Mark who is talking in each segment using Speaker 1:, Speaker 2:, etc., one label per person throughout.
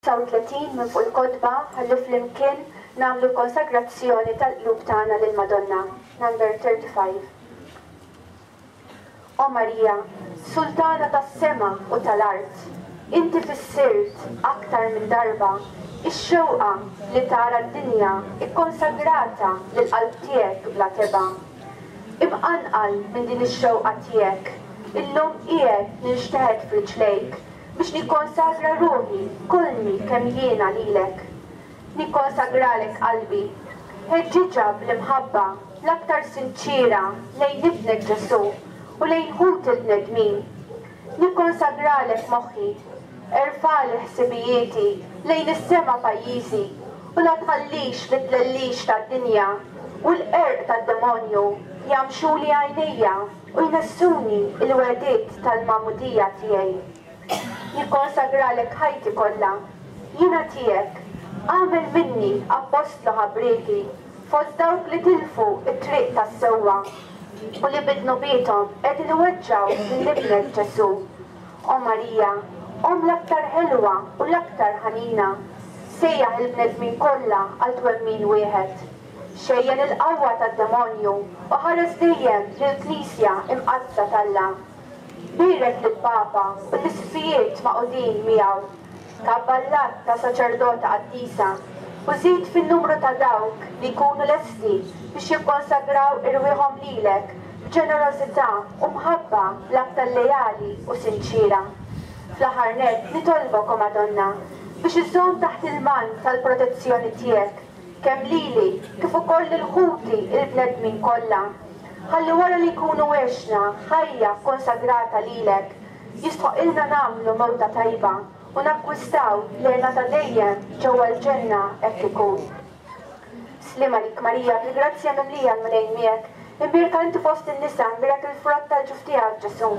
Speaker 1: 35 minn fuq il-kotba ħalli flimkien nagħmlu l-konsagrazzjoni tal-qlub tagħna lill-Madonna. Number 35. O Marija, Sultana tas-sema u tal-art, inti fissirt aktar minn darba x-xewqa li tara d-dinja kkonsagrata lill-qalb tiegħek bla tebgħa. Imqanqal minn din ix-xewqa tiegħek, illum qiegħed ninxteħet f'riġlejk biex nikkonsagra ruħi kollni kemm jiena lilek. Nikkonsagralek qalbi. Ħeġġiġha bl-imħabba l-aktar sinċiera lejn Ibnek Ġesù u lejn ħuti l-bnedmin. Nikkonsagralek moħħi. Erfagħli ħsibijieti lejn is-sema pajjiżi u la tħallix li t-tlellix tad-dinja u l-qerq tad-demonju jgħammxuli għajnejja u jnessuni l-wegħdiet tal-magħmudija tiegħi. Nikkonsagralek ħajti kollha. Jiena tiegħek. Agħmel minni appostlu ħabrieki fost dawk li tilfu t-triq tas-sewwa u li bi dnubiethom qegħdin iweġġgħu lil Ibnek Ġesù. O Marija, Omm l-aktar ħelwa u l-aktar ħanina, sejjaħ il-bnedmin kollha għal twemmin wieħed. Xejjen il-qawwa tad-demonju u ħares dejjem lill-Knisja Imqaddsa t'Alla. Bierek lill-Papa u l-Isqfijiet magħqudin miegħu. Kabbar l-għadd ta' saċerdota qaddisa u żid fin-numru ta' dawk li jkunu lesti biex jikkonsagraw irwieħhom lilek b'ġenerożità u mħabba l-aktar leali u sinċiera. Fl-aħħar nett, nitolbok, O Madonna, biex iżżomm taħt il-mant tal-protezzjoni tiegħek kemm lili kif ukoll lil ħuti l-bnedmin kollha, ħalli wara li nkunu għexna ħajja kkonsagrata lilek, jistħoqqilna nagħmlu mewta tajba u nakkwistaw l-hena ta' dejjem ġewwa l-ġenna hekk ikun. Sliem għalik Marija, bil-grazzja mimlija l-Mulej miegħek, imbierka inti fost in-nisa, imbierek il-frott tal-ġuf tiegħek Ġesù.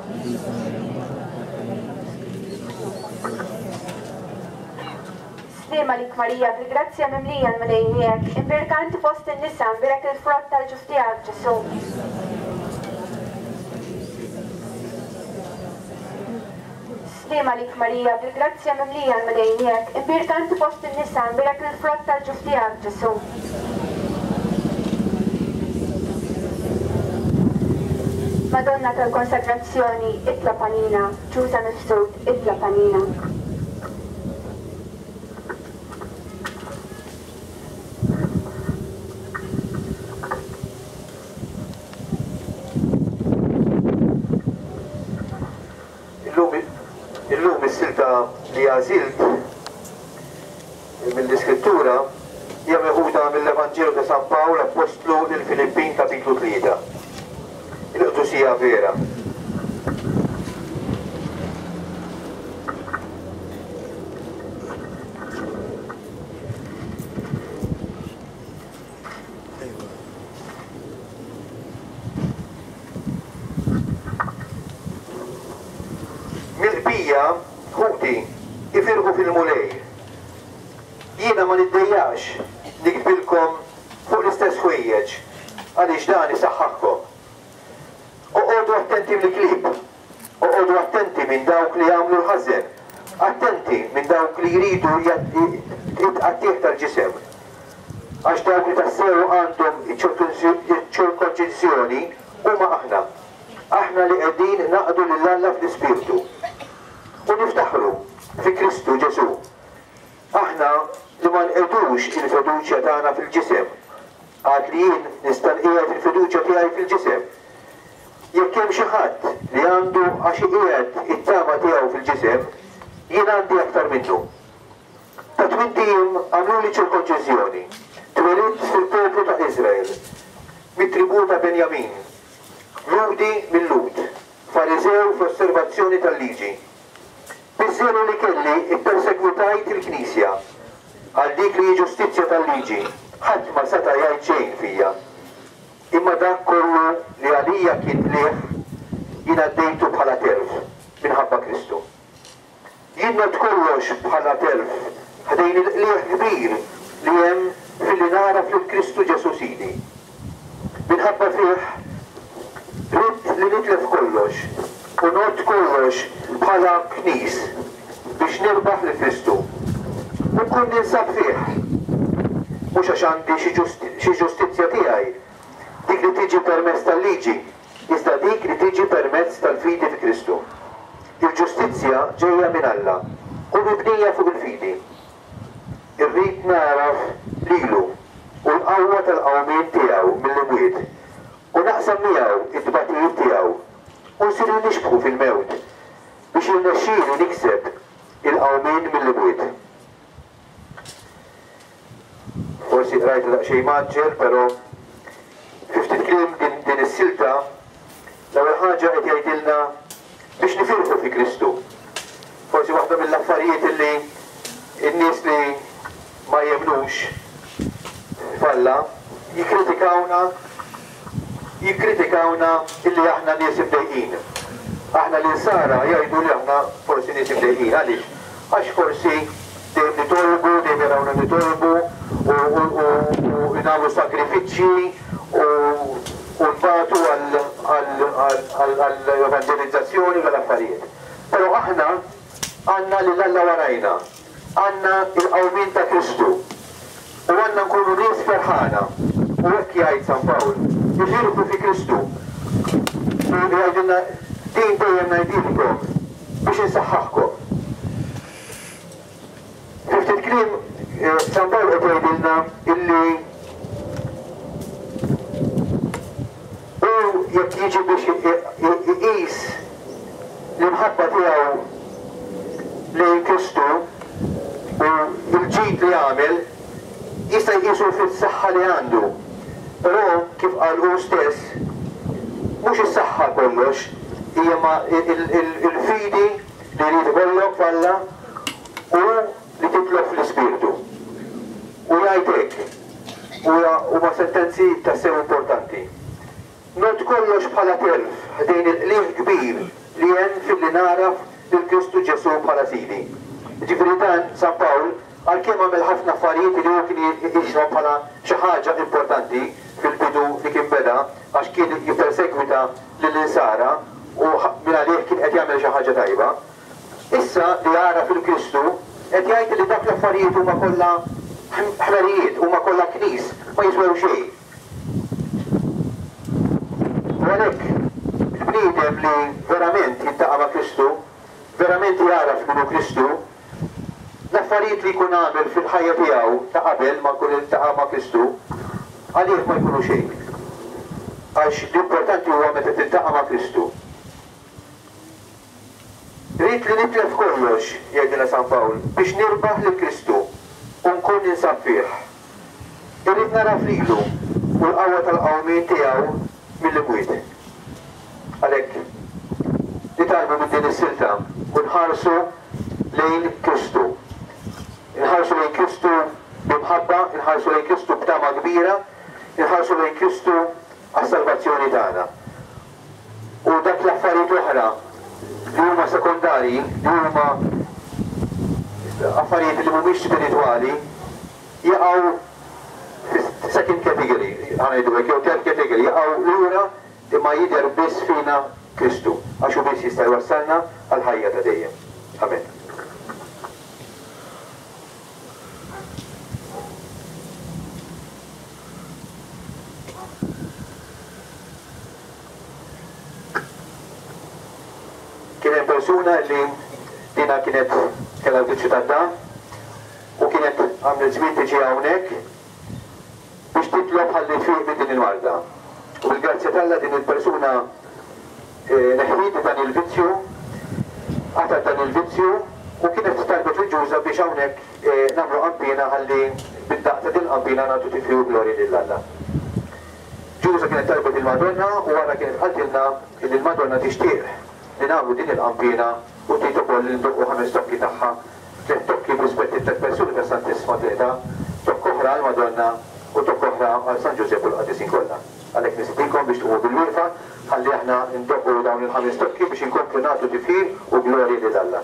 Speaker 1: Sliem għalik Marija, bil-grazzja mimlija l-Mulej miegħek, imbierka inti fost in-nisa, imbierek il-frott tal-ġuf tiegħek Ġesù. Sliem għalik Marija, bil-grazzja mimlija l-Mulej miegħek, imbierka inti fost in-nisa, imbierek il-frott tal-ġuf tiegħek, Ġesù. Madonna tal-Konsagrazzjoni, itlob għalina, Ġuża Mifsud, itlob għalina.
Speaker 2: Illum illum is-silta li għażilt mill-Iskrittura hija meħuda mill-Evanġelu ta' San Pawl Appostlu lill-Filippin kapitlu 3. Il-qdusija vera. Mill-bqija, ħuti, ifirħu fil-Mulej. Jiena ma niddejjaqx niktbilkom fuq l-istess ħwejjeġ, għaliex dan isaħħaħkom. Oqogħdu attenti mill-klieb, oqogħdu attenti minn dawk li jagħmlu l-ħażen, attenti minn dawk li jridu t-tqattigħ tal-ġisem. Għax dawk li tassew għandhom iċ-ċirkonċiżjoni huma aħna, aħna li qegħdin naqdu lil Alla fl-Ispirtu u niftaħru fi Kristu Ġesù. Aħna li ma nqegħdux il-fiduċja tagħna fil-ġisem, għad li jien nista' nqiegħed il-fiduċja tiegħi fil-ġisem. Jekk hemm xi ħadd li għandu għax iqiegħed it-tama tiegħu fil-ġisem, jien għandi aktar minnu. Ta' tmint ijiem għamluli ċirkonċiżjoni. Twelidt fil-poplu ta' Iżrael, mit-tribù ta' Benjamin, Lhudi mil-Lhud, Fariżew fl-osservazzjoni tal-Liġi. Biż-żelu li kelli ppersegwitajt il-Knisja. Għal dik li hi ġustizzja tal-Liġi, ħadd ma seta' jgħid xejn fija. Imma dak kollu li għalija kien qligħ, jien għaddejtu bħala telf minħabba Kristu. Jien ngħodd kollox bħala telf ħdejn il-qligħ kbir li hemm filli nagħraf lil Kristu Ġesù Sidi. Minħabba fih ridt li nitlef kollox u ngħodd kollox bħala knis biex nirbaħ lil Kristu. nkun ninsab fih. Mhux għax għandi xi ġustizzja tiegħi, dik li tiġi permezz tal-liġi, iżda dik li tiġi permezz tal-fidi fi Kristu. Il-ġustizzja ġejja minn Alla u mibnija fuq il-fidi. Irrid nagħraf lilu u l-qawwa tal-qawmien tiegħu mill-imwiet, u naqsam miegħu t-tbatijiet tiegħu, u nsir nixbħu fil-mewt, biex jirnexxieli nikseb il-qawmien mill-imwiet. Forsi qrajtha daqsxejn mgħaġġel, però fi ftit kliem din din is-silta l-ewwel ħaġa qed jgħidilna biex nifirħu fi Kristu. Forsi waħda mill-affarijiet illi n-nies li ma jemmnux f'Alla jikkritikawna jikkritikawna illi aħna nies imdejqin. Aħna l-Insara jgħidu li aħna forsi nies imdejqin. Għaliex? Għax forsi dejjem nitolbu, dejjem jarawna nitolbu u u nagħmlu sagrifiċċji u u nbatu għall-evanġelizzazzjoni u dal-affarijiet. Però aħna għandna lil Alla warajna. Għandna l-qawmien ta' Kristu u għandna nkunu nies ferħana. U hekk jgħid San Pawl, ifirħu fi Kristu. U jgħidilna, din dejjem ngħidilkom biex insaħħaħkom. Fi ftit kliem, San Pawl qed jgħidilna illi hu jekk jiġi biex iqis l-imħabba tiegħu lejn Kristu u l-ġid li għamel, jista' jqisu fis-saħħa li għandu. Però, kif qal hu stess, mhux is-saħħa kollox, hija imma l-fidi li jrid ikollok f'Alla u li titlob fl-Ispirtu. U jgħid hekk, u huma sentenzi tassew importanti. Ngħodd kollox bħala telf ħdejn il-qligħ kbir li hemm filli nagħraf lil Kristu Ġesù bħala Sidi. Jiġifieri dan, San Pawl, għalkemm għamel ħafna affarijiet li hu kien iqishom bħala xi ħaġa importanti fil-bidu li kien beda għax kien jippersegwita lill-Insara u mingħalih kien qed jagħmel xi ħaġa tajba, issa li għaraf 'il Kristu qed jgħid li dak l-affarijiet huma kollha ħmerijiet, huma kollha knis, ma jiswew xejn. U għalhekk, il-bniedem li verament jiltaqa' ma' Kristu, verament jagħraf min hu Kristu, l-affarijiet li jkun għamel fil-ħajja tiegħu ta' qabel ma jkun iltaqa' ma' Kristu, għalih ma jkunu xejn. Għax l-importanti huwa meta tiltaqa' ma' Kristu. Ridt li nitlef kollox, jgħidilna San Pawl, biex nirbaħ lil Kristu u nkun ninsab fih. Irrid nagħraf lilu u l-qawwa tal-qawmien tiegħu mill-imwiet. Għalhekk, nitgħallmu minn din is-silta u nħarsu lejn Kristu. Inħarsu lejn Kristu bi mħabba, inħarsu lejn Kristu b'tama kbira, inħarsu lejn Kristu għas-salvazzjoni tagħna. U dak l-affarijiet l-oħra li huma sekondarji, li huma affarijiet li mhumiex spiritwali, jaqgħu fis-second category, ħa ngħidu hekk, jew third category, jaqgħu lura imma jidher biss fina Kristu, għax hu biss jista' jwassalna għall-ħajja ta' dejjem. Amen. Kien hemm persuna li dinha kienet kellha l-vizzju tad-dagħa u kienet għamlet żmien tiġi hawnhekk biex titlob ħalli tfiq minn din il-marda. U bil-grazzja t'Alla din il-persuna neħħiet dan il-vizzju, qatgħet dan il-vizzju u kienet talbet lil Ġuża biex hawnhekk nagħmlu qanpiena ħalli bid-daqq ta' din il-qanpiena nagħtu tifħir u glorja lil Alla. Ġuża kienet talbet lill-Madonna u wara kienet qaltilna illi l-Madonna tixtieq li nagħmlu din il-qanpiena u trid ukoll li ndoqqu ħames tokki tagħha, tlett tokki b'rispett lit-tlett persuni tas-Santissma Trinità, tokk oħra għall-Madonna u tokk oħra għal San Ġużepp u l-qaddisin kollha. Għalhekk nistedinkom biex tqumu bil-wieqfa ħalli aħna ndoqqu dawn il-ħames tokki biex inkomplu nagħtu tifħir u glorji lil Alla.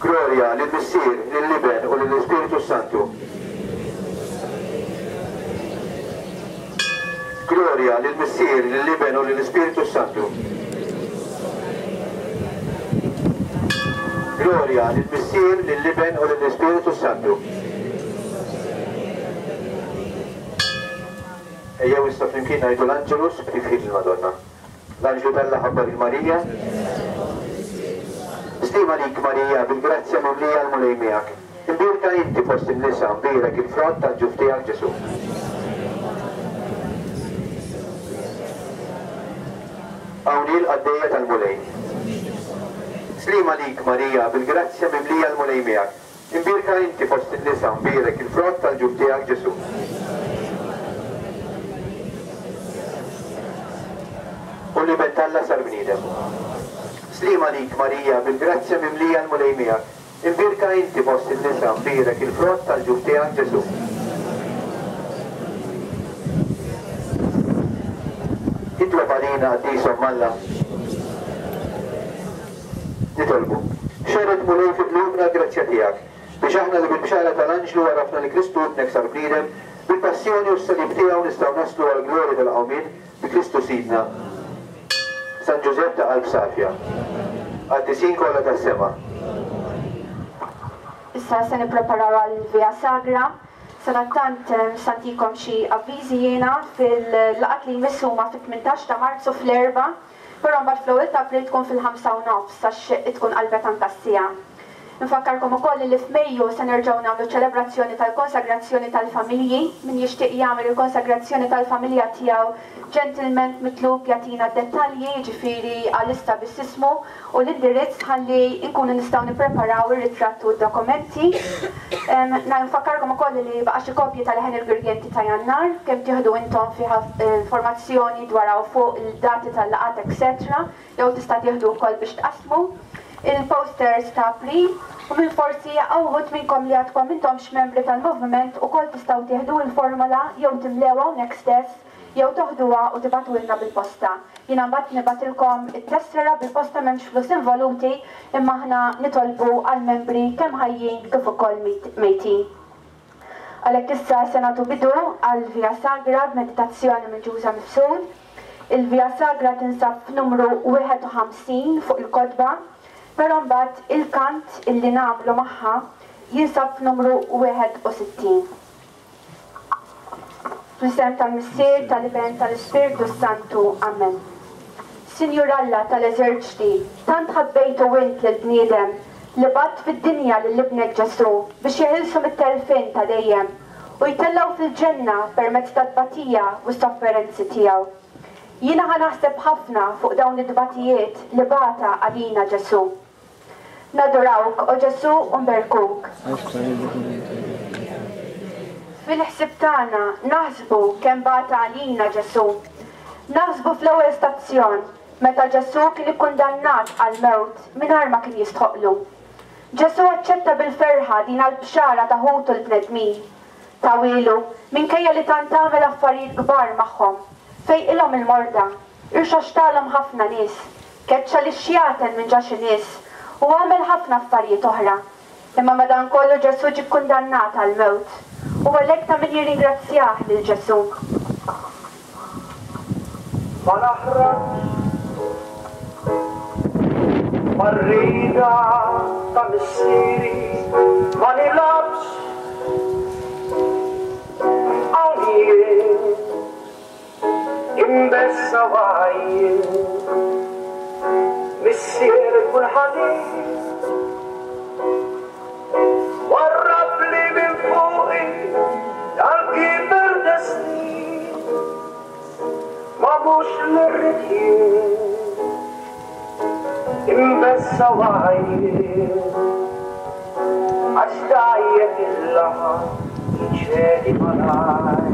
Speaker 2: Glorja lill-Missier, lill-Iben u lill-Ispirtu s-Santu. Glorja lill-Missier, lill-Iben u lill-Ispirtu s-Santu. Glorja lill-Missier, lill-Iben u lill-Ispirtu s-Santu. Ejjew issa flimkien ngħidu l-Angelus b'tifħir lill-Madonna. L-Anġlu t'Alla ħabbar lil Marija. Sliema lik Marija, bil-grazzja mimlija l-Mulej miegħek. Imbierka inti fost in-nisa, mbierek il-frott tal-ġuf tiegħek Ġesù. Hawn hi l-qaddejja tal-Mulej. Sliema lik Marija, bil-grazzja mimlija l-Mulej miegħek. Imbierka inti fost in-nisa, mbierek il-frott tal-ġuf tiegħek Ġesù. U l-Iben t'Alla sar bniedem. Sliema lik, Marija, bil-grazzja mimlija l-Mulej miegħek. Imbierka inti fost in-nisa, mbierek il-frott tal-ġuf tiegħek Ġesù. Itlob għalina, Qaddis Omm Alla. Nitolbu. Xerred Mulej fi qlubna l-grazzja tiegħek, biex aħna li bil-bxara tal-anġlu għarafna li Kristu Ibnek sar bniedem, bil-passjoni u s-salib tiegħu nistgħu naslu għall-glorja tal-qawmien bi Kristu Sidna. San Ġużepp ta' qalb safja. Qaddisin kollha tas-sema.
Speaker 1: Issa se nippreparaw għall-Via Sagra. Sadattant se ntikom xi avviżi jiena fil-laqgħat li jmiss huma fit-18 ta' Marzu fl-Erbgħa. Però mbagħad fl-ewwel ta' April tkun fil-ħamsa u nofs għax tkun qalbet anke s-siegħa. Infakkarkom ukoll li f'Mejju se nerġgħu nagħmlu ċ-ċelebrazzjoni tal-konsagrazzjoni tal-familji. Min jixtieq jagħmel il-konsagrazzjoni tal-familja tiegħu ġentilment mitlub jagħtina d-dettalji, jiġifieri għalissa biss ismu u l-indirizz ħalli nkunu nistgħu nippreparaw ir-ritratt u d-dokumenti. Nfakkarkom ukoll li baqa' xi kopji ta' Leħen il-Girgenti ta' Jannar, kemm tieħdu intom fiha informazzjoni dwar hawn fuq, il-dati tal-laqgħat etc. Jew tista' tieħdu wkoll biex tqassmu il-posters ta' April u min forsi hawn uħud minnkom li għadkom m'intomx membri tal-moviment ukoll tistgħu tieħdu il-formola jew timlewha hawnhekk stess jew toħduha u tibagħtuhilna bil-posta. Jiena mbagħad nibgħatilkom it-tessera bil-posta m'hemmx flus involuti imma aħna nitolbu għall-membri kemm ħajjin kif ukoll mejtin. Għalhekk issa se nagħtu bidu għall-Via Sagra b'meditazzjoni minn Ġuża Mifsud. Il-Via Sagra tinsab f'numru 51 fuq il-kotba, però mbagħad il-kant illi nagħmlu magħha jinsab f'numru 61. Fl-isem tal-Missier, tal-Iben, tal-Ispirtu s-Santu. Amen. Sinjur Alla tal-eżerċti, tant ħabbejtu int lill-bniedem li bgħatt fid-dinja lil Ibnek Ġesù biex jeħilsu mit-telfien ta' dejjem u jtellgħu fil-ġenna permezz tat-tbatija u s-sofferenzi tiegħu. Jiena ħa naħseb ħafna fuq dawn it-tbatijiet li bata għalina Ġesù. Nadurawk, o Ġesù, u nberkuk. Fil-ħsieb tagħna naħsbu kemm bata għalina Ġesù. Naħsbu fl-ewwel stazzjon, meta Ġesù kien ikkundannat għall-mewt mingħajr ma kien jistħoqqlu. Ġesù aċċetta bil-ferħa din għall-bxara ta' ħutu l-bnedmin. Tawielu, minkejja li tant għamel affarijiet kbar magħhom, fejqilhom il-morda, irxoxtalhom ħafna nies, Keċċa lix-xjaten minn ġo xi nies u għamel ħafna affarijiet oħra. Imma madankollu Ġesù ġie kkundannat għall-mewt. U għalhekk ta' min jirringrazzjah lil Ġesù.
Speaker 3: Ma naħrabx mar-rieda ta' missieri, ma nilgħabx hawn jien. Imbessa wgħajjien, Missier ikun ħanin. Warrabli minn fuqi dal-kiber destin, ma mhux li rrid jien. Imbessa wgħajjien, għax dgħajjef il-laħam jċedi malajr.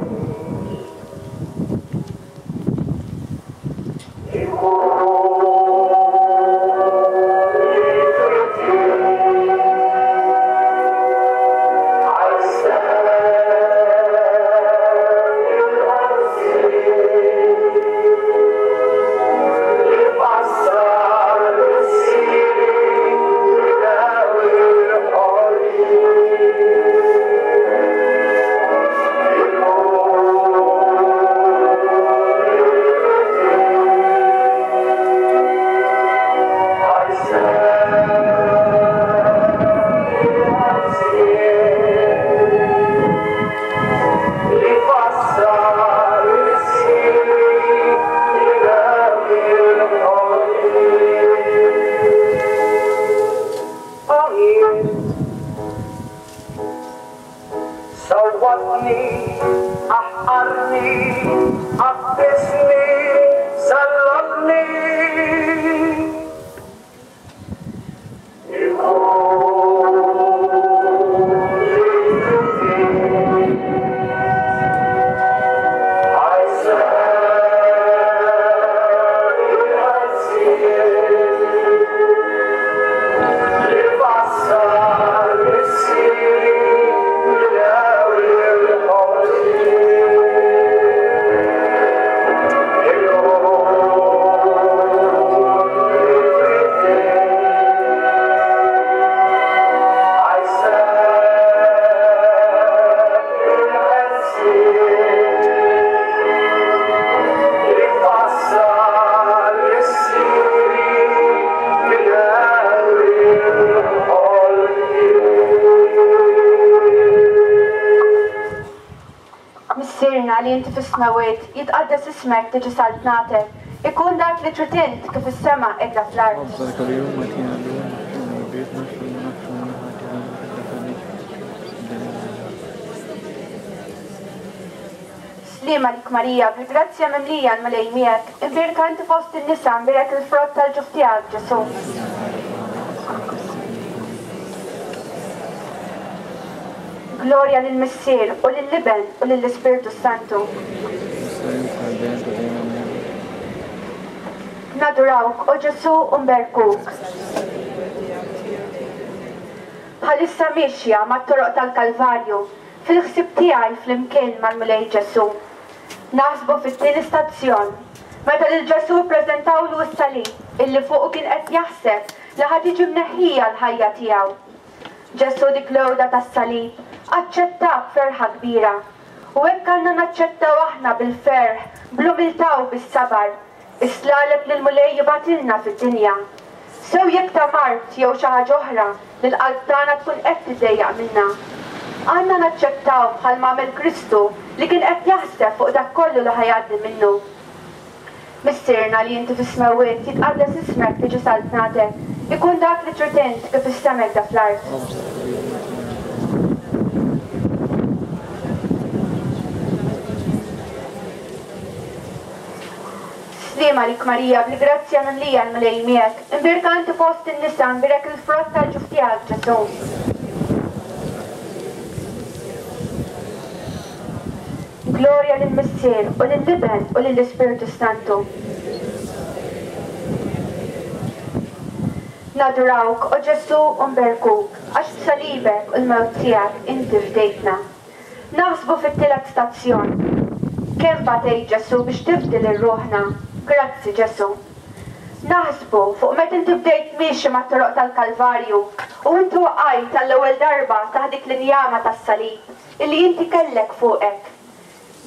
Speaker 3: Ħawwadni, aħqarni, għaffisni, sallabni.
Speaker 1: Missierna li inti fis-smewwiet, jitqaddes ismek, tiġi saltnatek, ikun dak li trid int kif fis-sema hekk fl-art.
Speaker 4: خبزنا كل يوم واتينا اليوم واغفر لنا ذنوبنا كما نغفر لنا ذنوبنا.
Speaker 1: Sliem għalik Marija, bil-grazzja mimlija l-Mulej miegħek, imbierka inti fost in-nisa, imbierek il-frott tal-ġuf tiegħek, Ġesù. Glorja lill-Missier u lill-Iben u lill-Ispirtu Santu. Nadurawk, o Ġesù, u nberkuk. Bħalissa miexja mat-toroq tal-Kalvarju, fil-ħsieb tiegħi flimkien mal-Mulej Ġesù. Naħsbu fit-tieni stazzjon, meta lil Ġesù ppreżentawlu s-salib illi fuqu kien qed jaħseb li ħa tiġi mneħħija l-ħajja tiegħu. Ġesù dik l-għuda tas-salib aċċettha b'ferħa kbira. U hekk għandna naċċettaw aħna bil-ferħ, bl-umiltà u bis-sabar, is-slaleb li l-Mulej jibgħatilna fid-dinja. Sew jekk ta' mard jew xi ħaġa oħra li l-qalb tagħna tkun qed tiddejjaq minnha. Għandna naċċettaw bħalma għamel Kristu li kien qed jaħseb fuq dak kollu li ħa jgħaddi minnu. Missierna li inti fis-smewwiet, jitqaddes ismek, tiġi saltnatek, ikun dak li trid int kif fis-sema hekk fl-art. Sliem għalik Marija, bil-grazzja mimlija l-Mulej miegħek, imbierka inti fost in-nisa, imbierek il-frott tal-ġuf tiegħek, Ġesù. Glorja lill-Missier u lill-Iben u lill-Ispirtu Santu. Nadurawk, o Ġesù, u nberkuk, għax b'salibek u l-mewt tiegħek inti fdejtna. Naħsbu fit-tielet stazzjon. Kemm batejt Ġesù biex tifdi lil ruħna. Grazzi Ġesù. Naħsbu fuq meta inti bdejt miexi mat-toroq tal-Kalvarju u inti waqajt għall-ewwel darba taħt dik l-injama tas-salib illi inti kellek fuqek.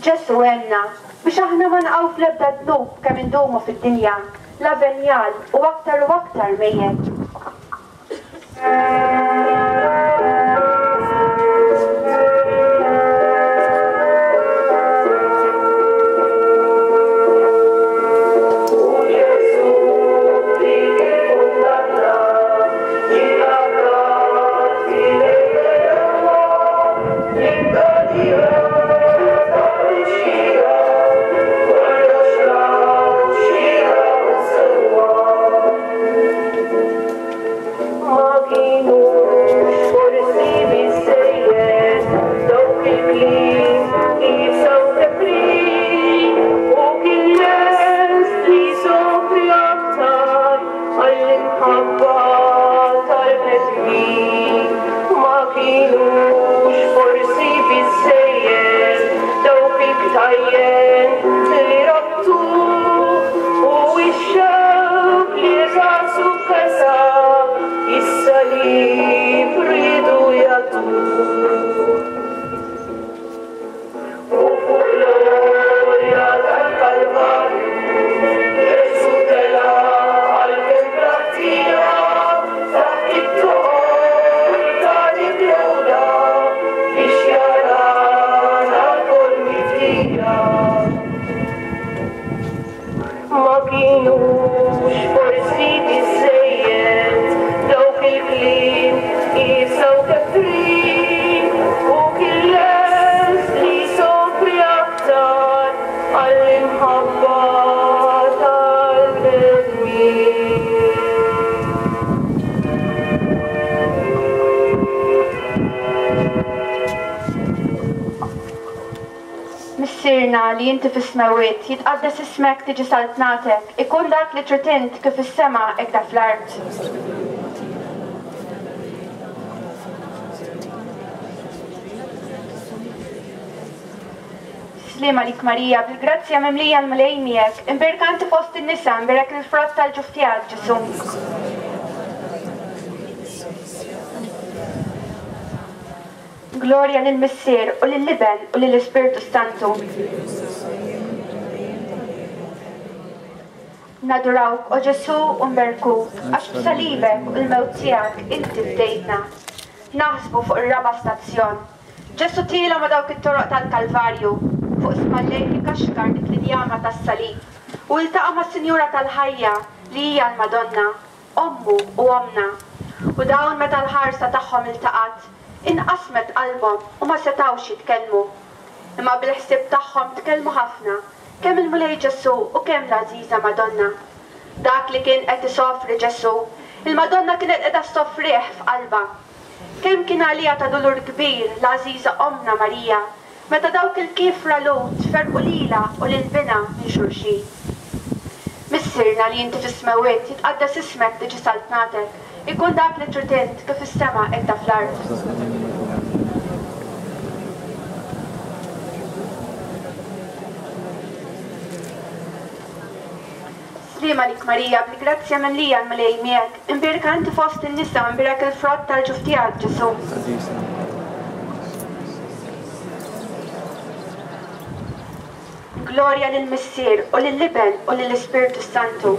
Speaker 1: Ġesù għenna biex aħna ma naqgħu fl-ebda dnub kemm indumu fid-dinja, la venjal u aktar u aktar mejjet.
Speaker 3: Ma kienux forsi biżżejjed dawk il-kliem iebsa u kefrin, u kien lest li jsofri aktar għall-imħabba tal-bnedmin. Ma kienux forsi biżżejjed dawk il-ktajjen li rabtuh u x-xewk li rasu kesa is-salib riedu jagħtuh. U fuq l-għolja tal-Kalvarju Ġesù tela' għalkemm bla ħtija taħt it-toqol ta' dik l-għuda biex jarana lkoll mifdija. Ma kienux forsi biżżejjed dawk il-kliem iebsa u kefrin.
Speaker 1: Missierna li inti fis-smewwiet, jitqaddes ismek tiġi saltnatek, ikun dak li trid int kif fis-sema hekk fl-art. Sliem għalik Marija, bil-grazzja mimlija l-Mulej miegħek, imbierka inti fost in-nisa, imbierek il-frott tal-ġuf tiegħek Ġesù. Glorja lill-Missier u lill-Iben u lill-Ispirtu s-Santu. Nadurawk, o Ġesù, u nberkuk, għax b'salibek u l-mewt tiegħek inti fdejtna. Naħsbu fuq ir-raba' stazzjon. Ġesù tiela' ma' dawk it-toroq tal-Kalvarju, fuq spallejh ikaxkar dik l-injama tas-salib, u iltaqa' mas-Sinjura tal-ħajja li hija l-Madonna, Ommu u ommna. U dawn meta l-ħarsa tagħhom iltaqgħet, inqasmet qalbhom u ma setgħux jitkellmu. Imma bil-ħsieb tagħhom tkellmu ħafna, kemm il-Mulej Ġesù u kemm l-għażiża Madonna. Dak li kien qed isofri Ġesù, il-Madonna kienet qiegħda ssofrih f'qalbha. Kemm kien għaliha ta' dulur kbir l-għażiża Ommna Marija meta dawk il-kiefra Lhud ferrqu lilha u lil binha minn xulxin. Missierna li inti fis-smewwiet, jitqaddes ismek, tiġi saltnatek, ikun dak li trid int, kif fis-sema hekk ta' fl-art. Sliem għalik Marija, bil-grazzja mimlija l-Mulej miegħek, imbierka inti fost in-nisa u imbierek il-frott tal-ġuf tiegħek, Ġesù. Glorja lill-Missier, u lill-Iben, u lill-Ispirtu s-Santu.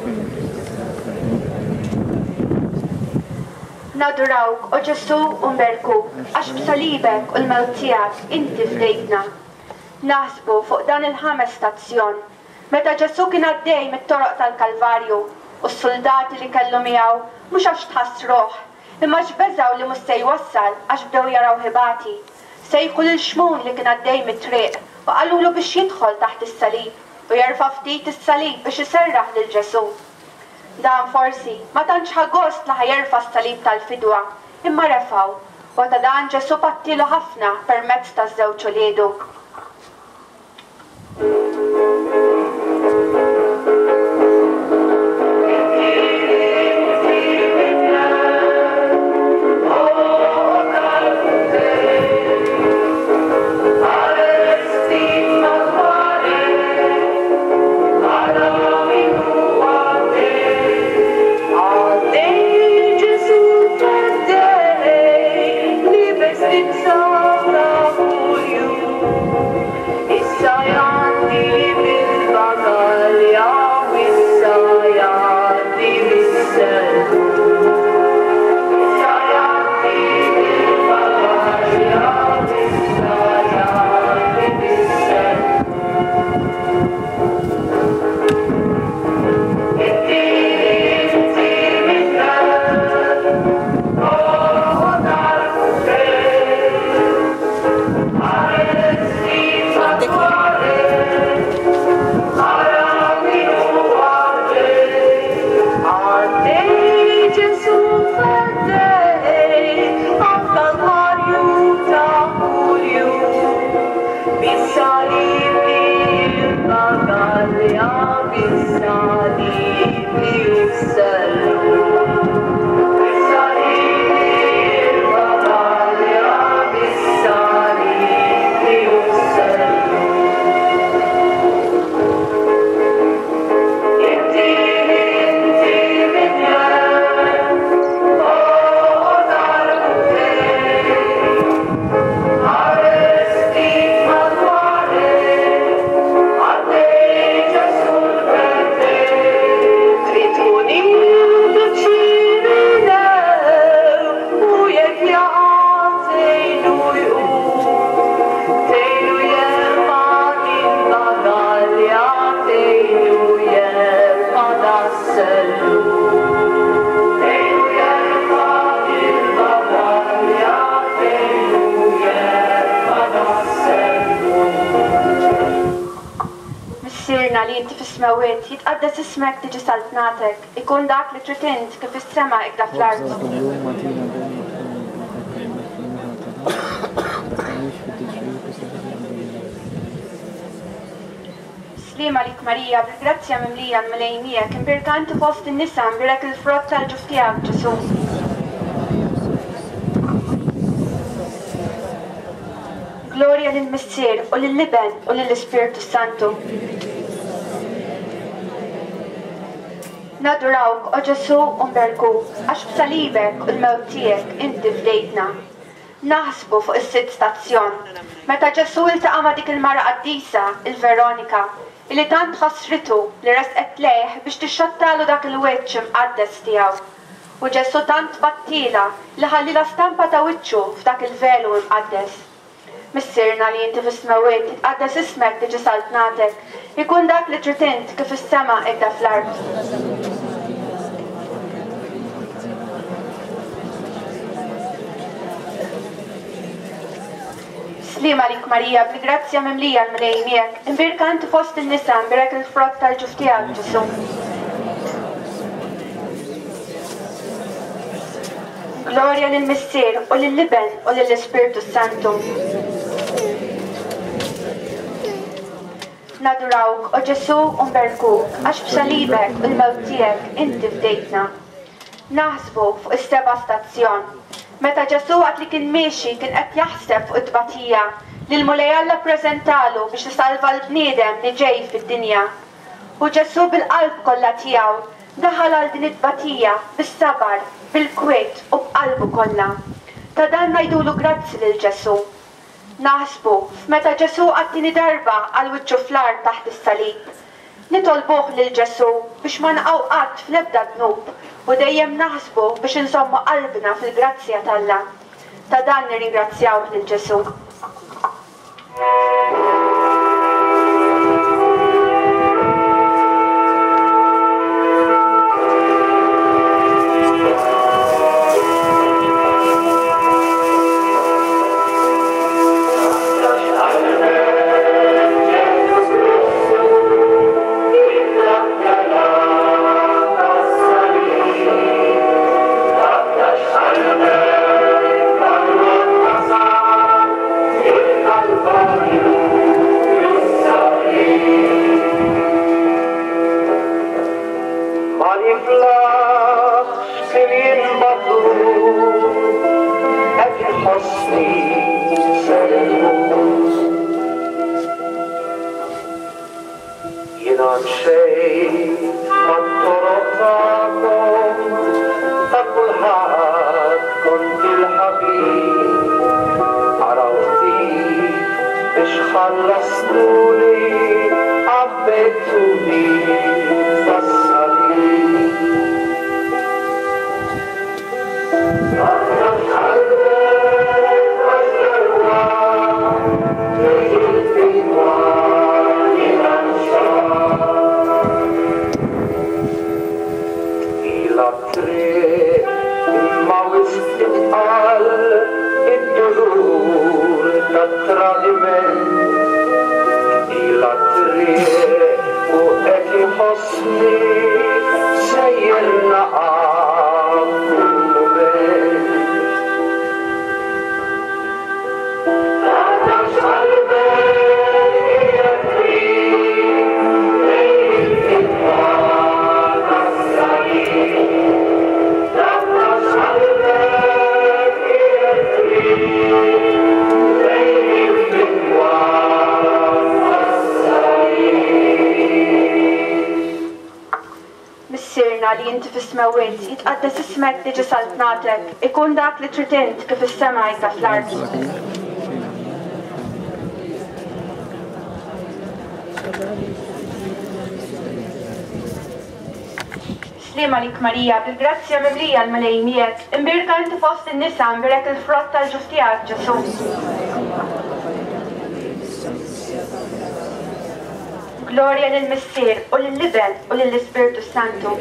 Speaker 1: Nadurawk, o Ġesù, u nberkuk, għax b'salibek u l-mewt tiegħek inti fdejtna. Naħsbu fuq dan il-ħames stazzjon, meta Ġesù kien għaddej mit-toroq tal-Kalvarju u s-suldati li kellu miegħu mhux għax tħassruh, imma għax beżgħu li mhux se jwassal għax bdew jarawh ibati, sejħu lil Xmun li kien għaddej mit-triq u qalulu biex jidħol taħt is-salib u jerfa' ftit is-salib biex iserraħ lil Ġesù. Dan forsi ma tantx ħa gost li ħa jerfa' s-salib tal-fidwa, imma refgħu, u ta' dan Ġesù pattielu ħafna permezz taż-żewġ uliedu. Missierna li inti fis-smewwiet, jitqaddes ismek tiġi saltnatek, ikun dak li trid int kif fis-sema hekk fl-art. Sliem għalik Marija, bil-grazzja mimlija l-Mulej miegħek, imbierka inti fost in-nisa, imbierek il-frott tal-ġuf tiegħek, Ġesù. Glorja lill-Missier, u lill-Iben, u lill-Ispirtu s-Santu. Nadurawk, o Ġesù, u nberkuk, għax b'salibek u l-mewt tiegħek inti fdejtna. Naħsbu fuq is-sitt stazzjon, meta Ġesù ltaqa' ma' dik il-mara qaddisa, il-Veronika, illi tant ħassritu li resqet lejh biex tixxottalu dak il-wiċċ imqaddes tiegħu. U Ġesù tant battielha li ħallielha stampa ta' wiċċu f'dak il-velu imqaddes. Missierna li inti fis-smewwiet, jitqaddes ismek, tiġi saltnatek, ikun dak li trid int kif fis-sema hekk fl-art. Sliem għalik Marija, bil-grazzja mimlija l-Mulej miegħek, imbierka inti fost in-nisa, imbierek il-frott tal-ġuf tiegħek, Ġesù. Glorja lill-Missier, u lill-Iben, u lill-Ispirtu s-Santu. Nadurawk, o Ġesù, u nberkuk, għax b'salibek u l-mewt tiegħek inti fdejtna. Naħsbu fuq is-seba' stazzjon. Meta Ġesù waqt li kien miexi kien qed jaħseb fuq it-tbatija li l-Mulej Alla ppreżentalu biex isalva l-bniedem li ġej fid-dinja. U Ġesù bil-qalb kollha tiegħu daħal għal din it-tbatija bis-sabar, bil-kwiet u b'qalbu kollha. Ta' dan ngħidulu grazzi lil Ġesù. Naħsbu f'meta Ġesù għat-tieni darba għal wiċċu fl-art taħt is-salib. Nitolbuh lil Ġesù biex ma naqgħu qatt fl-ebda dnub u dejjem naħsbu biex inżommu qalbna fil-grazzja t'Alla. Ta' dan nirringrazzjawh lil Ġesù.
Speaker 3: Ma niflaħx fil-jien batut, qed inħossni ser inmut. Jiena mxejt mat-toroq tagħkom, ta' kulħadd kont il-ħabib. Araw ftit biex ħallastuni, għabbejtuni tas-salib. Taqtax qalbek għax dalwaqt tiġi l-fidwa li lanċat. Ilha t-triq imma wisq itqal id-dulur tat-tradiment. Ilha t-triq u qed iħossni sejjer naqa' kull mument. Taqtax qalbek hija t-triq lejn il-fidwa tas-salib. Taqtax qalbek hija t-triq lejn il-fidwa tas-salib.
Speaker 1: Missierna li inti fis-smewwiet, jitqaddes ismek, tiġi saltnatek, ikun dak li trid int kif fis-sema hekk fl-art. Sliem għalik Marija, bil-grazzja mimlija l-Mulej miegħek, imbierka inti fost in-nisa, imbierek il-frott tal-ġuf tiegħek, Ġesù. Glorja lill-Missier, u lill-Iben, u lill-Ispirtu s-Santu.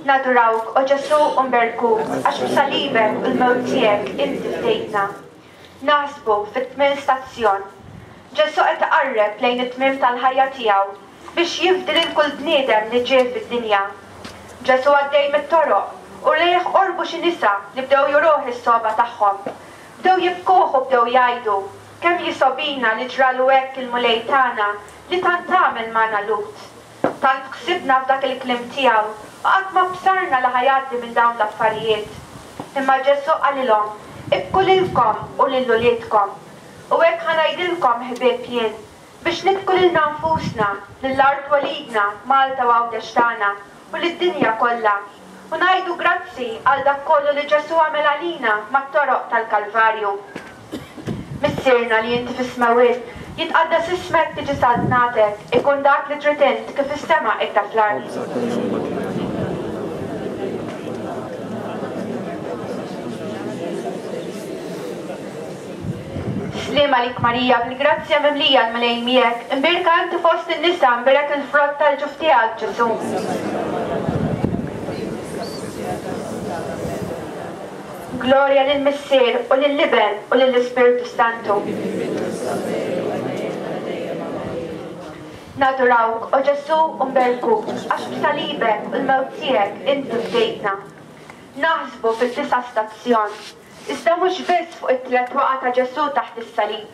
Speaker 1: Nadurawk, o Ġesù, u nberkuk, għax b'salibek u l-mewt tiegħek inti fdejtna. Naħsbu fit-tmien stazzjon. Ġesù qed iqarreb lejn it-tmiem tal-ħajja tiegħu biex jifdi lil kull bniedem li ġie fid-dinja. Ġesù għaddej mit-toroq, u lejh qorbu xi nisa li bdew juruh is-sogħba tagħhom. Bdew jibkuh u bdew jgħidu. Kemm jisgħobina li ġralu hekk il-Mulej tagħna li tant għamel magħna Lhud. Tant ħsibna f'dak il-kliem tiegħu u qatt ma bsarna li ħa jgħaddi minn dawn l-affarijiet. Imma Ġesù qalilhom, Ibku lilkom u lil uliedkom. U hekk ħa ngħidilkom, ħbieb, jien, biex nibku lilna nfusna, lil art twelidna, Malta u Għawdex tagħna, u lid-dinja kollha, u ngħidu grazzi għal dak kollu li Ġesù għamel għalina mat-toroq tal-Kalvarju. Missierna li inti fis-smewwiet, jitqaddes ismek tiġi saltnatek, ikun dak li trid int kif fis-sema hekk fl-art. Sliem għalik Marija, bil-grazzja mimlija l-Mulej miegħek, imbierka inti fost in-nisa, imbierek il-frott tal-ġuf tiegħek, Ġesù. Glorja lill-Missier u lill-Iben u lill-Ispirtu Santu. Nadurawk, o Ġesù, u nberkuk, għax b'salibek u l-mewt tiegħek inti fdejtna. Naħsbu fid-disa' stazzjon. Iżda mhux biss fuq it-tlett waqgħa ta' Ġesù taħt is-salib.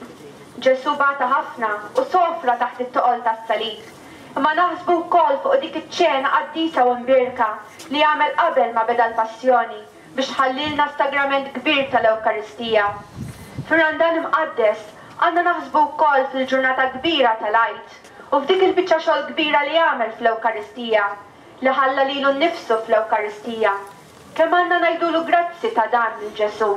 Speaker 1: Ġesù bata ħafna u sofra taħt it-toqol tas-salib. Imma naħsbu wkoll fuq dik iċ-ċena qaddisa u mbierka li għamel qabel ma beda l-Passjoni biex ħallielna s-sagrament kbir tal-Ewkaristija. Fir-Randan Imqaddes għandna naħsbu wkoll fil-ġurnata kbira tal-Għid u f'dik il-biċċa xogħol kbira li għamel fl-Ewkaristija, li ħalla lilu nnifsu fl-Ewkaristija. Kemm għandna ngħidulu grazzi ta' dan lil Ġesù!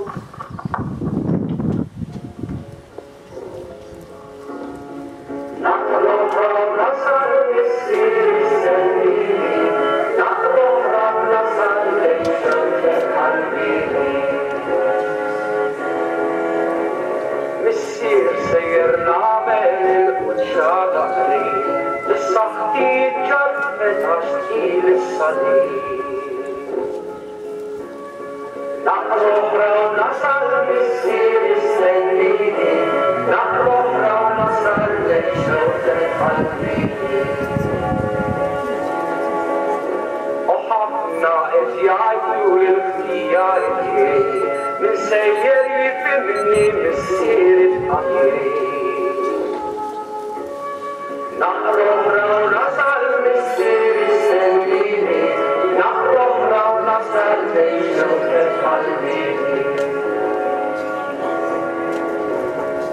Speaker 3: Missier sejjer nagħmel il-quċċata qrib li saħħti ġarrbet għax tqil is-salib. Naqra oħra u nasal missier jistennini, naqra oħra u nasal lejn xewqtek qalbi. U ħafna qed jgħidu li l-ħtija hi tiegħi, min sejjer jifhimni missieri f'qatli. Naqra oħra u nasal missier jistennini, naqra oħra u nasal lejn xewqtek qalbi.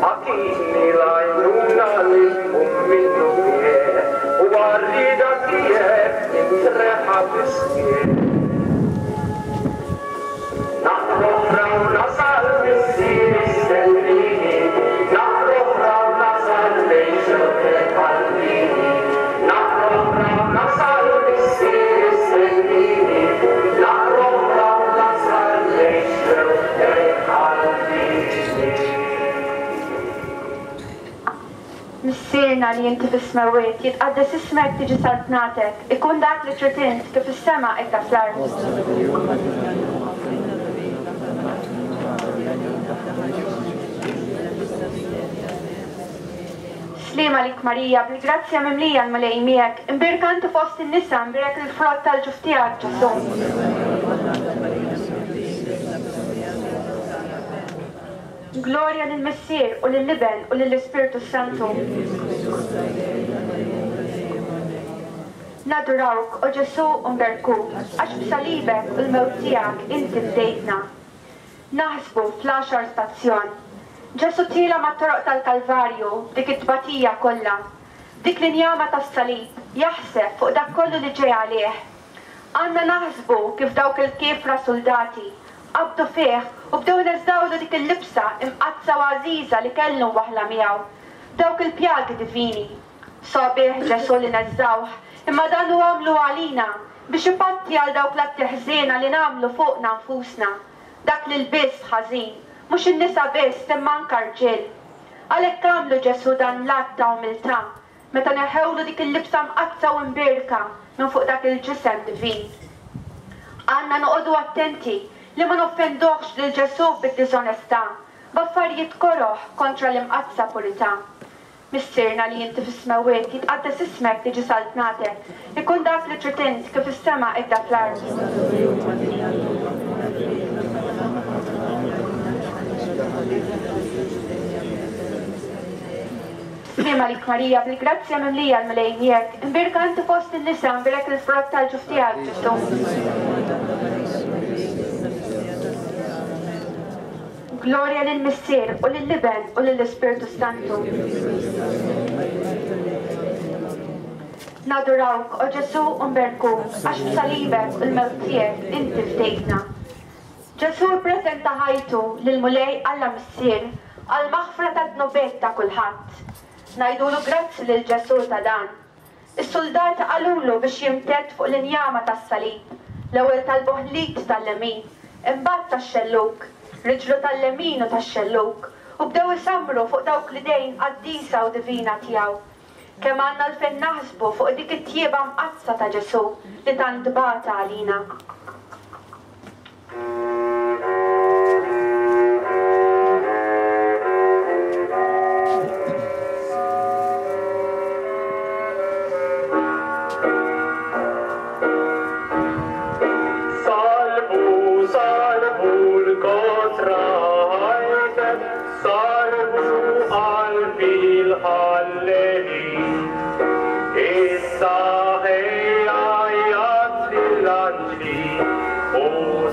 Speaker 3: Agħtini l-għajnuna li tqum minnu fih u għar-rieda tiegħek nintreħa bis-sħiħ. Naqra oħra u nasal missier jistennini, naqra oħra u nasal lejn xewqtek qalbini. Naqra oħra u nasal missier jistennini, naqra oħra u nasal lejn xewqtek qalbini.
Speaker 1: Missierna li inti fis-smewwiet, jitqaddes ismek tiġi saltnatek, ikun dak li trid int kif fis-sema hekk fl-art. Sliem għalik Marija, bil-grazzja mimlija l-Mulej miegħek, imbierka inti fost in-nisa, imbierek il-frott tal-ġuf tiegħek Ġesù. Glorja lill-Missier u lill-Iben u lill-Ispirtu s-Santu. Nadurawk, o Ġesù, u nberkuk, għax b'salibek u l-mewt tiegħek inti fdejtna. Naħsbu fl-għaxar stazzjon. Ġesù tiela' mat-toroq tal-Kalvarju b'dik it-tbatija kollha, b'dik l-injama tas-salib, jaħseb fuq dak kollu li ġej għalih. Għandna naħsbu kif dawk il-kiefra suldati qabdu fih u bdew ineżżgħulu dik il-libsa imqaddsa u għażiża li kellu mwaħħla miegħu, b'dawk il-pjagi divini. Sabiħ Ġesù li neżżgħuh, imma dan hu għamlu għalina biex ipatti għal dawk l-atti ħżiena li nagħmlu fuqna nfusna, dak l-ilbies ħażin, mhux in-nisa biss imma anke rġiel. Għalhekk għamlu Ġesù dan l-att ta' umiltà meta neħħewlu dik il-libsa mqaddsa u mbierka minn fuq dak il-ġisem divin. Għandna noqogħdu attenti li ma noffenduhx lil Ġesù bid-diżonestà, b'affarijiet koroh kontra l-imqaddsa purità. Missierna li inti fis-smewwiet, jitqaddes ismek, tiġi saltnatek, ikun dak li trid int, kif fis-sema hekk fl-art. Sliem għalik Marija, bil-grazzja mimlija l-Mulej miegħek, imbierka inti fost in-nisa, imbierek il-frott tal-ġuf tiegħek, Ġesù. Glorja lill-Missier, u lill-Iben, u lill-Ispirtu s-Santu. Nadurawk, o Ġesù, u nberkuk, għax b'salibek u l-mewt tiegħek inti fdejtna. Ġesù ppreżenta ħajtu lill-Mulej Alla Missier għall-maħfra tad-dnubiet ta' kulħadd. Ngħidulu grazzi lil Ġesù ta' dan. Is-suldati qalulu biex jimtedd fuq l-injama tas-salib, l-ewwel talbuh l-id tal-lemin, imbagħad tax-xellug, riġlu tal-lemin u tax-xellug, u bdew isammru fuq dawk l-idejn qaddisa u divina tiegħu. Kemm għandna għalfejn naħsbu fuq dik it-tjieba mqaddsa ta' Ġesù li tant bata għalina.
Speaker 3: Salbu, salbu l-kotra ħajtek, salbu qalbi l-ħallelin. Issa ħejja jgħadd lill-anġli u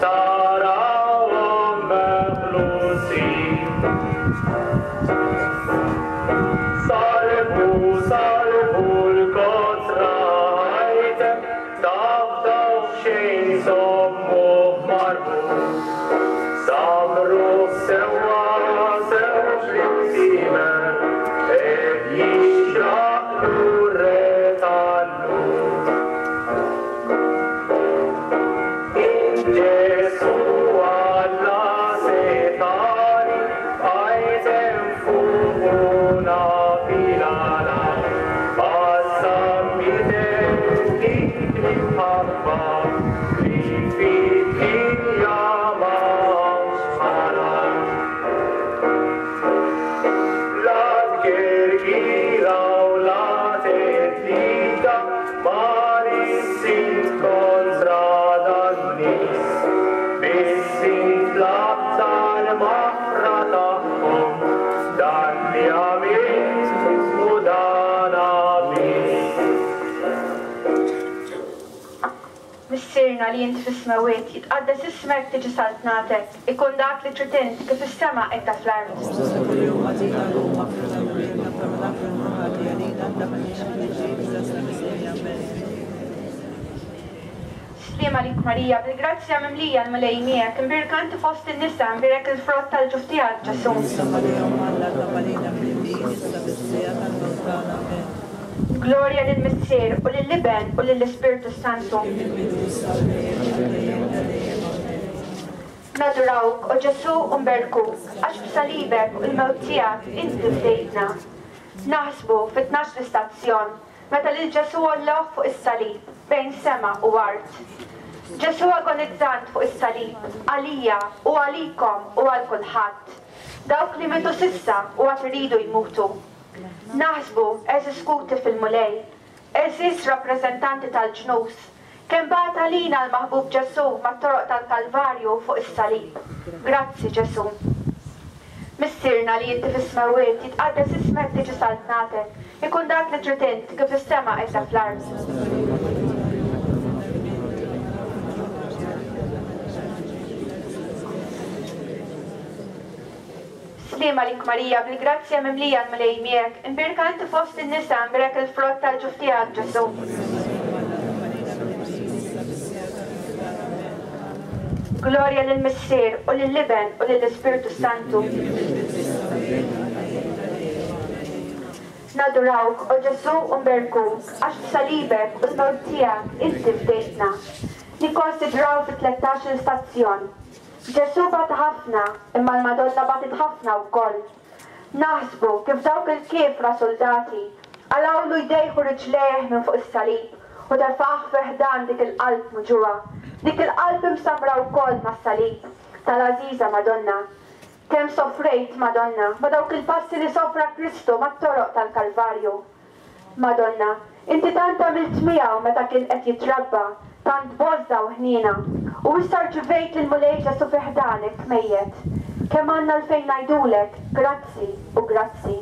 Speaker 3: tarawhom meħlusin. Salbu, salbu l-kotra ħajtek, tafdaw f'xejn żommuh marbut. Samruh sewwa sew fl-imsiemer, hekk jixraqlu r-Re tal-Lhud. Int Ġesù Alla setgħani, bqajt hemm fuq u naf il-għala. Għas-sammitek dik l-imħabba li fid-dinja ma hawnx bħalha. La tgergira u la theddida ma rissint kontra dan-nies. Biss int tlabt għall-maħfra tagħhom, dan li għamilt u dan biss.
Speaker 1: Missierna li int fis-smewwiet, jitqaddes ismek, tiġi saltnatek, ikun dak li trid int, kif fis-sema hekk fl-art.
Speaker 4: Ħobżna ta' kuljum agħtina llum, aħfrilna dnubietna bħalma naħfru lil ħati għalina, tdaħħalniex fit-tiġrib, iżda eħlisna mill-Amen.
Speaker 1: Sliem għalik Marija, bil-grazzja mimlija l-Mulej miegħek, imbierka inti fost in-nisa, imbierek il-frott tal-ġuf tiegħek, Ġesù.
Speaker 4: Qdisa Marija Omm Alla, itlob għalina midinbin, issa fis-siegħa tal-mewt tagħna. Amen.
Speaker 1: Glorja lill-Missier, u lill-Iben, u lill-Ispirtu s-Santu.
Speaker 4: Kif fil-bidu, issa u dejjem, għal dejjem ta' dejjem. Amen.
Speaker 1: Nadurawk, o Ġesù, u nberkuk, għax b'salibek u l-mewt tiegħek inti fdejtna. Naħsbu fit-tnax-il stazzjon, Meta lil Ġesù għollewh fuq is-salib, bejn sema u art. Ġesù agonizzant fuq is-salib, għalija u għalikom u għal kulħadd. Dawk li mietu s'issa u għad iridu jmutu. Naħsbu, għeżież ħuti fil-Mulej, għeżież rappreżentanti tal-ġnus, kemm bagħat għalina l-maħbub Ġesù mat-toroq tal-Kalvarju fuq is-salib. Grazzi Ġesù. Missierna li inti fis-smewwiet, jitqaddes ismek tiġi saltnatek, ikun dak li trid int, kif fis-sema hekk fl-art. Sliem għalik Marija, bil-grazzja mimlija l-Mulej miegħek, imbierka inti fost in-nisa, imbierek il-frott tal-ġuf tiegħek Ġesù. Glorja lill-Missier, u lill-Iben, u lill-Ispirtu s-Santu. Nadurawk, o Ġesù, u nberkuk, għax b'salibek u l-mewt tiegħek inti fdejtna. Nikkonsidraw fit-tlettax-il stazzjon. Ġesù bata ħafna, imma l-Madonna batet ħafna wkoll. Naħsbu kif dawk il-kiefra suldati qalgħulu jdejh u riġlejh minn fuq is-salib u tefgħuh fi ħdan dik il-qalb muġugħa, dik il-qalb imsammra wkoll mas-salib tal-għażiża Madonna. Kemm sofrejt, Madonna, ma' dawk il-passi li sofra Kristu mat-toroq tal-Kalvarju. Madonna, inti tant għamilt miegħu meta kien qed jitrabba, tant b'għożża u ħniena, u issa rċivejt lill-Mulej Ġesù fi ħdanek mejjet. Kemm għandna għalfejn ngħidulek grazzi u grazzi.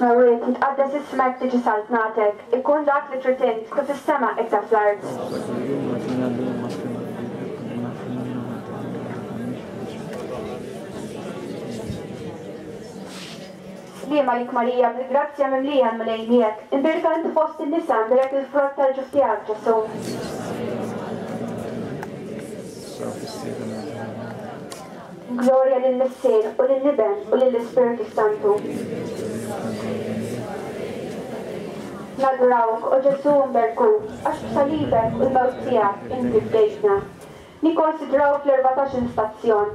Speaker 1: fis-smewwiet, jitqaddes ismek, tiġi saltnatek, ikun dak li trid int, kif fis-sema hekk fl-art. Sliem għalik Marija, bil-grazzja mimlija l-Mulej miegħek, imbierka inti fost in-nisa, imbierek il-frott tal-ġuf tiegħek, Ġesù. Glorja lill-Missier u lill-Iben u lill-Ispirtu s-Santu. Nadurawk, o Ġesù mberkuk, għax b'salibek u l-mewt tiegħek inti fdejtna. Nikkonsidraw fl-erbatax-il stazzjon,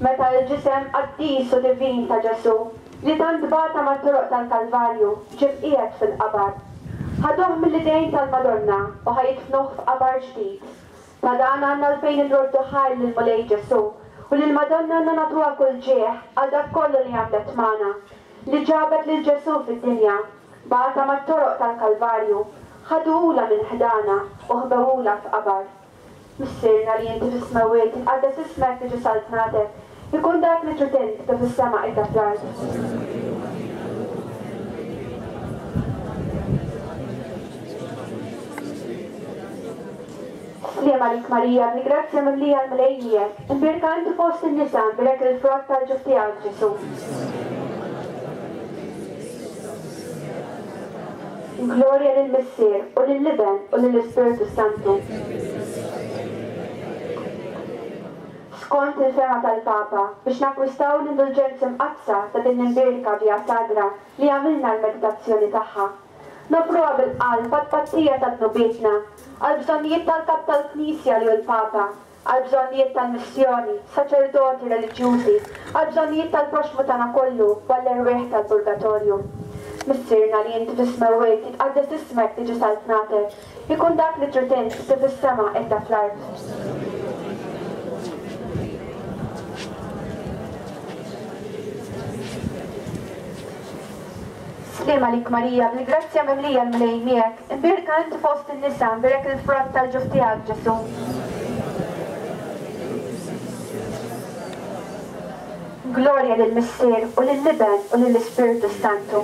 Speaker 1: meta l-ġisem qaddis u divin ta' Ġesù, li tant bata mat-toroq tal-Kalvarju, ġie mqiegħed fil-qabar. Ħaduh mill-idejn tal-Madonna u ħa jidfnuh f'qabar ġdid. Ta' dan għandna għalfejn inroddu ħajr lill-Mulej Ġesù, u lill-Madonna għandna nagħtuha kull ġieħ għal dak kollu li għamlet magħna, li ġabet lil Ġesù fid-dinja, bata mat-toroq tal-Kalvarju, ħaduhulha minn ħdana u ħbewhulha f'qabar. Missierna li inti fis-smewwiet, jitqaddes ismek, tiġi saltnatek, ikun dak li trid int, kif fis-sema hekk fl-art. Sliem għalik Marija, bil-grazzja mimlija l-Mulej miegħek, imbierka inti fost in-nisa, imbierek il-frott tal-ġuf tiegħek, Ġesù. Glorja lill-Missier, u lill-Iben, u lill-Ispirtu s-Santu. Skont il-fehma tal-Papa, biex nakkwistaw l-indulġenzi mqaddsa ta' din l-imbierka Via Sagra li għamilna l-meditazzjoni tagħha, noffruha bil-qalb għat-tpattija ta' dnubietna, għall-bżonnijiet tal-Kap tal-Knisja li hu l-Papa, għall-bżonnijiet tal-missjoni, saċerdoti, reliġjużi, għall-bżonnijiet tal-proxxmu tagħna kollu u għall-erwieħ tal-purgatorju. Missierna li inti fis-smewwiet, jitqaddes ismek, tiġi saltnatek, ikun dak li trid int, kif fis-sema hekk fl-art. Sliem għalik Marija, bil-grazzja mimlija l-Mulej miegħek, imbierka inti fost in-nisa, imbierek il-frott tal-ġuf tiegħek, Ġesù. Glorja lill-Missier u lill-Iben u lill-Ispirtu s-Santu.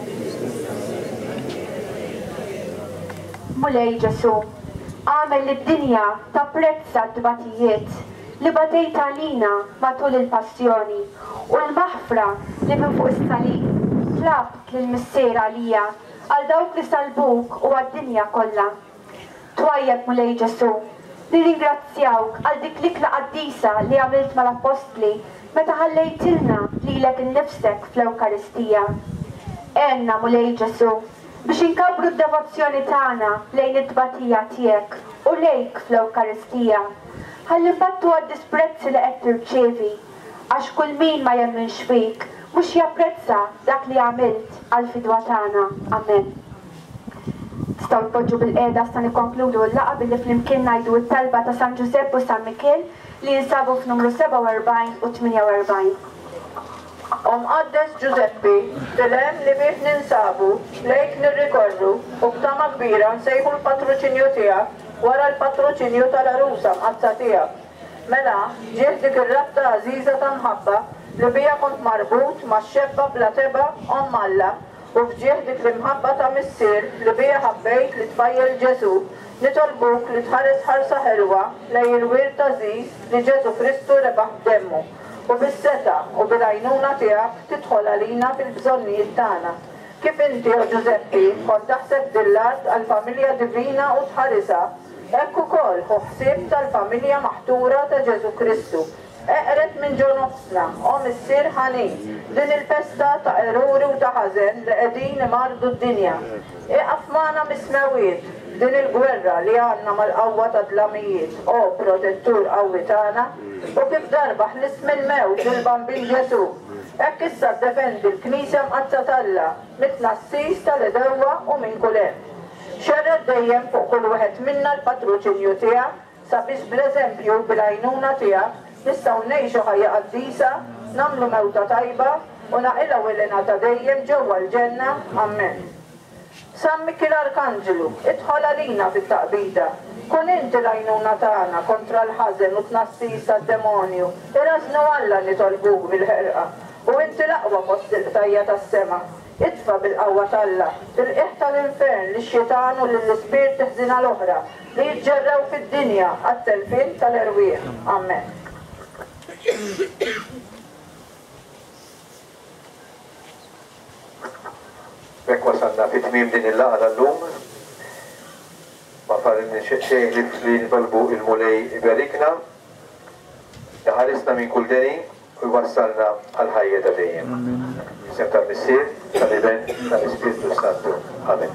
Speaker 1: Mulej Ġesù, agħmel li d-dinja tapprezza t-tbatijiet li batejt għalina matul il-passjoni u l-maħfra li minn fuq is-salib tlabt lill-Missier għalija, għal dawk li sallbuk u għad-dinja kollha. Twajjeb Mulej Ġesù, nirringrazzjawk għal dik l-ikla qaddisa li għamilt mal-Appostli meta ħallejtilna lilek innifsek fl-Ewkaristija. Għenna, Mulej Ġesù, biex inkabbru d-devozzjoni tagħna lejn it-tbatija tiegħek u lejk fl-Ewkaristija, ħalli nbattu għad-disprezzi li qed tirċievi, għax kull min ma jemminx fik mhux japprezza dak li għamilt għall-fidwa tagħna. Amen. Tistgħu tpoġġu bilqiegħda issa nikkonkludu l-laqgħa billi flimkien ngħidu t-talba ta' San Ġużepp u San Mikiel li jinsabu f'numru 47 u 48.
Speaker 5: O Mqaddes Ġużeppi, fil-hemm li fih ninsabu, lejk nirrikorru u b'tama kbira nsejħu l-patroċinju tiegħek wara l-patroċinju tal-Għarusa Mqaddsa tiegħek. Mela, ġieħ dik ir-rabta għażiża ta' mħabba li biha kont marbut max-xebba bla tebgħa Omm Alla, u f'ġieħ dik l-imħabba ta' Missier li biha ħabbejt lit-tfajjel Ġesù, nitolbuk li tħares ħarsa ħelwa lejn il-wirt għażiż li Ġesù Kristu rebaħ b'demmu, u bis-setgħa u bil-għajnuna tiegħek tidħol għalina fil-bżonnijiet tagħna. Kif inti, o Ġużeppi, kont taħseb din l-art għall-familja divina u tħarisha, hekk ukoll ħu ħsieb tal-familja maħtura ta' Ġesù Kristu. Eqred minn ġo nofsna, o Missier ħanin, din il-pesta ta' eruri u ta' ħażen li qegħdin imarrdu d-dinja. Ieqaf magħna mis-smewwiet f'din il-gwerra li għandna mal-qawwa tad-dlamijiet, o Protettur qawwi tagħna, u kif darba ħlist mill-mewt lill-Bambin Ġesù, hekk issa ddefendi l-Knisja Mqaddsa t'Alla mit-tnassis tal-għedewwa u minn kull hemm. Xerred dejjem fuq kull wieħed minna l-patroċinju tiegħek, sabiex bl-eżempju u bil-għajnuna tiegħek nistgħu ngħixu ħajja qaddisa, nagħmlu mewta tajba u naqilgħu l-hena ta' dejjem ġewwa l-ġenna. Ammen. San Mikiel Arkanġlu, idħol għalina fit-taqbida. Kun inti l-għajnuna tagħna kontra l-ħażen u t-tnassis tad-demonju. Irażżnu Alla nitolbuk bil-ħerqa. U inti l-aqwa fost il-qtajja tas-sema. Itfa' bil-qawwa t'Alla, fil-qiegħ tal-infern lix-xitan u lill-ispirti ħżiena l-oħra li jiġġerrew fid-dinja għat-telfien tal-erwieħ. Amen.
Speaker 2: B'hekk wasalna fi tmiem din il-laqgħa tal-lum. Ma fadlilna xejn ħlief li nitolbu il-Mulej iberikna, iħarisna minn kull deni u jwassalna għall-ħajja ta' dejjem. Fl-isem tal-Missier, tal-Iben, tal-Ispirtu s-Santu. Amen.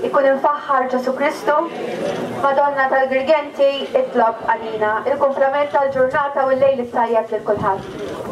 Speaker 1: Ikun imfaħħar Ġesù Kristu, Madonna tal-Girgenti, itlob għalina. Il-kumplament tal-ġurnata u l-lejl it-tajjeb lil kulħadd.